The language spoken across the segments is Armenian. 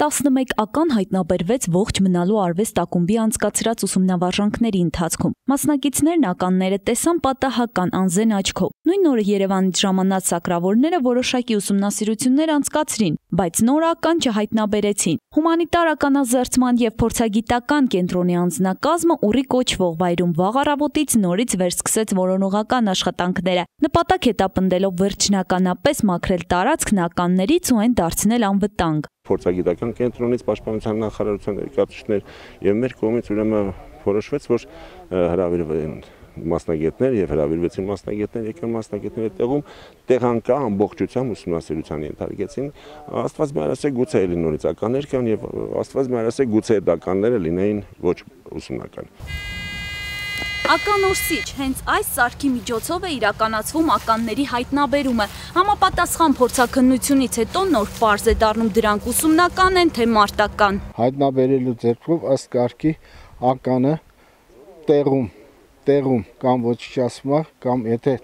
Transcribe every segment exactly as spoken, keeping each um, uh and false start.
տասնմեկ ական հայտնաբերվեց ողջ մնալու արվեստ ակումբի անցկացրած ուսումնավարժանքների ընթացքում։ Մասնակիցներն ականները տեսան պատահական անզեն աչքով։ Նույն օրը Երևանից ժամանած սակրավորները որոշակի ուսումնասիրություններ անցկացրին, բայց նոր ական չհայտնաբերեցին։ Հումանիտար ականազերծման եւ փորձագիտական կենտրոնի անձնակազմը ուռի կոչվող վայրում վաղ առավոտից նորից վերսկսեց որոնողական աշխատանքները։ Նպատակ հետապնդելով վերջնականապես մաքրել տարածքն ականներից ու այն դարձնել անվտանգ։ Փորձագիտական կենտրոնից պաշտպանության նախարարության ներկայացուցիչներ եւ մեր կողմից ուրեմն որոշվեց, որ հրավիրվեն մասնագետներ եւ հրավիրվեցին մասնագետներ, եկան մասնագետները տեղում տեղանկա ամբողջությամբ ուսումնասիրության ենթարկեցին։ Աստված մայրասե գուցե էլի նորից ականներ կան եւ Աստված մայրասե գուցե այդ ականները լինեին ոչ ուսումնական։ Ականորսիչ հենց այս սարքի միջոցով է իրականացվում ականների հայտնաբերումը։ Համապատասխան փորձաքննությունից հետո նոր պարզ է դառնում դրանք ուսումնական են, թե մարտական։ Հայտնաբերելու ձեռքով ըստ կարգի ականը տեղում տեղում կամ ոչնչացվում է, կամ եթե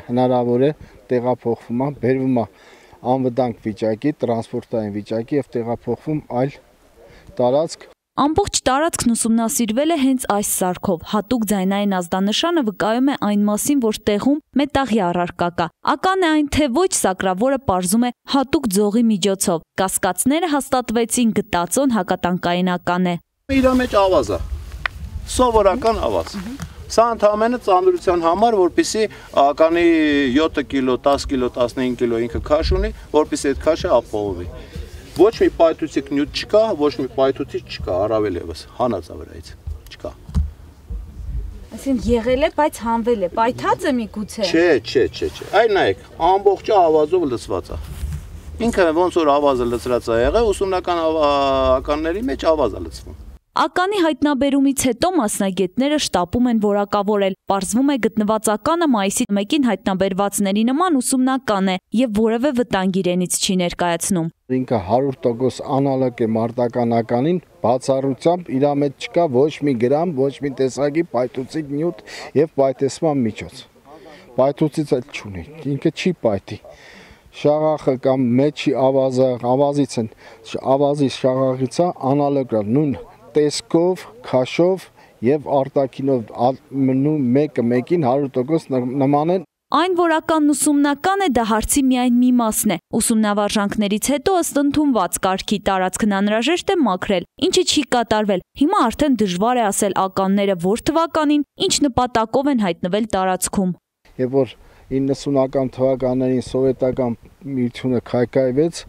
հնարավոր է տեղափոխվում է, բերվում է անվտանգ վիճակի, տրանսպորտային վիճակի եւ տեղափոխվում այլ տարածք։ Ամբողջ տարածքն ուսումնասիրվել է հենց այս սարքով։ Հատուկ ձայնային ազդանշանը վկայում է այն մասին, որ տեղում մետաղի առարկա կա։ Ական է այն թե ոչ, սակրավորը պարզում է հատուկ ձողի միջոցով։ Կասկածները հաստատվեցին, գտածոն հակատանկային ական է։ Իր մեջ ավազ է։ Սովորական ավազ։ Սա ընդհանրապես ծանրության համար, որպեսզի ականի յոթ կիլո, դես կիլո, տասնհինգ կիլո ինքը քաշ ունի, որպեսզի այդ քաշը ապահովի։ Ոչ մի պայթուցիկ նյութ չկա, ոչ մի պայթուցիչ չկա, առավել եւս հանած է վրայից, չկա։ Այսինքն եղել է, բայց հանվել է, պայթած է միգուցե։ Չէ, չէ, չէ, չէ։ Այ նայեք, ամբողջը ավազով լցված է։ Ինքը ոնց որ ավազը լցրած է եղել, ուսումնական ականների մեջ ավազ է լցվում։ Ականի հայտնաբերումից հետո մասնագետները շտապում են որակավորել։ Պարզվում է գտնված ականը մայիսի մեկին հայտնաբերվածների նման ուսումնական է եւ որևէ վտանգ իրենից չի ներկայացնում։ Ինքը հարյուր տոկոս անալոգ է մարտական ականին, բացառությամբ իր մեջ չկա ոչ մի գրամ, ոչ մի տեսակի պայթուցիկ նյութ եւ պայթեցման միջոց։ Պայթուցից էլ չունի, ինքը չի պայթի։ Շաղախը կամ մեջի ավազը, ավազից են, ավազի շաղախից է անալոգ նույն տեսքով, քաշով եւ արտաքինով մեկը մեկին հարյուր տոկոս նման են։ Այն որ ականն ուսումնական է, դա հարցի միայն մի մասն է։ Ուսումնավարժանքներից հետո ըստ ընդունված կարգի տարածքն անհրաժեշտ է մաքրել, ինչը չի կատարվել։ Հիմա արդեն դժվար է ասել ականները որ թվականին, ինչ նպատակով են հայտնվել տարածքում։ Եվ որ իննսունական թվականներին սովետական միությունը քայքայվեց,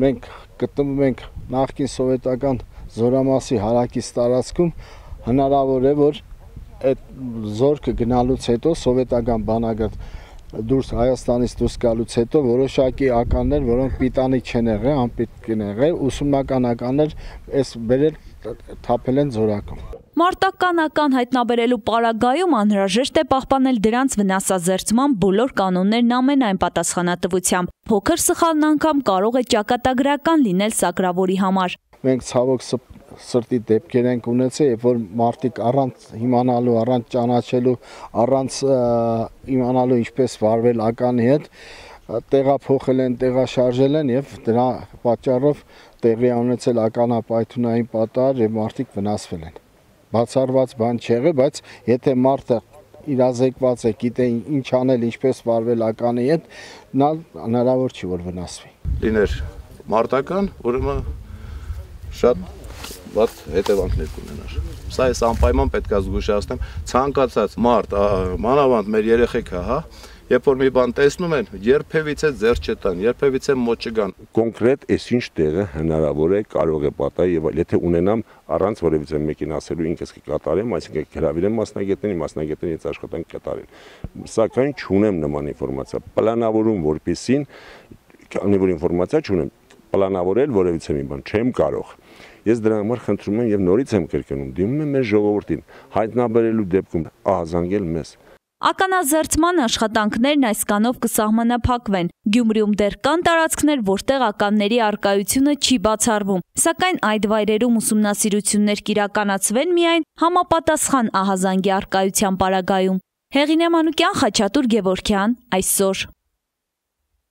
մենք գտնվում ենք նախկին սովետական Զորամասի հարակից տարածքում, հնարավոր է, որ այդ զորքը գնալուց հետո սովետական բանակը դուրս Հայաստանից դուրս գալուց հետո որոշակի ականներ, որոնք պիտանի չեն եղել, անպիտք են եղել, ուսումնական ականներ այս բերել թափել են զորակում։ Մարտական ական հայտնաբերելու պարագայում անհրաժեշտ է պահպանել դրանց վնասազերծման բոլոր կանոններն ամենայն պատասխանատվությամբ։ Փոքր սխալն անգամ կարող է ճակատագրական լինել սակրավորի համար։ Մենք ցավոք սրտի դեպքեր ենք ունեցել, երբ որ մարդիկ առանց իմանալու, առանց ճանաչելու, առանց իմանալու ինչպես վարվել ականի հետ, տեղափոխել են, տեղաշարժել են եւ դրա պատճառով տեղի ունեցել ականապայթունային պատահար եւ մարդիկ վնասվել են։ Բացառված բան չեղե, բայց եթե մարդը իրազեկված է, գիտե ինչ անել, ինչպես վարվել ականի հետ, նա հնարավոր չի որ վնասվի։ Լիներ մարտական, ուրեմն շատ վատ հետևանքներ կունենար։ Սա էս անպայման պետք է զգուշացնեմ, ցանկացած մարդ, մանավանդ մեր երեխեքը, հա, երբ որ մի բան տեսնում են, երբևիցե ձեռ չտան, երբևիցե մոտ չգան։ Կոնկրետ այսինչ տեղը հնարավոր է, կարող է պատահել եւ եթե ունենամ առանց որևիցե մեկին ասելու ինքս կկատարեմ, այսինքն հրավիրեմ մասնագետներին, մասնագետները ինձ աշխատանք կատարեն։ Սակայն չունեմ նման ինֆորմացիա։ Պլանավորում որպեսին, քանի որ ինֆորմացիա չունեմ, պլանավորել որևիցե մի բան չեմ կարող։ Ես դրա համար խնդրում եմ եւ նորից եմ կրկնում, դիմում եմ մեր ժողովրդին, հայտնաբերելու դեպքում ահազանգել մեզ։ Ականազերծման աշխատանքներն այս կանով կսահմանափակվեն։ Գյումրիում դեռ կան տարածքներ, որտեղ ականների առկայությունը չի բացառվում, սակայն այդ վայրերում ուսումնասիրություններ կիրականացվեն միայն համապատասխան ահազանգի առկայության պարագայում։ Հեղինե Մանուկյան, Խաչատուր Գևորգյան, այսօր։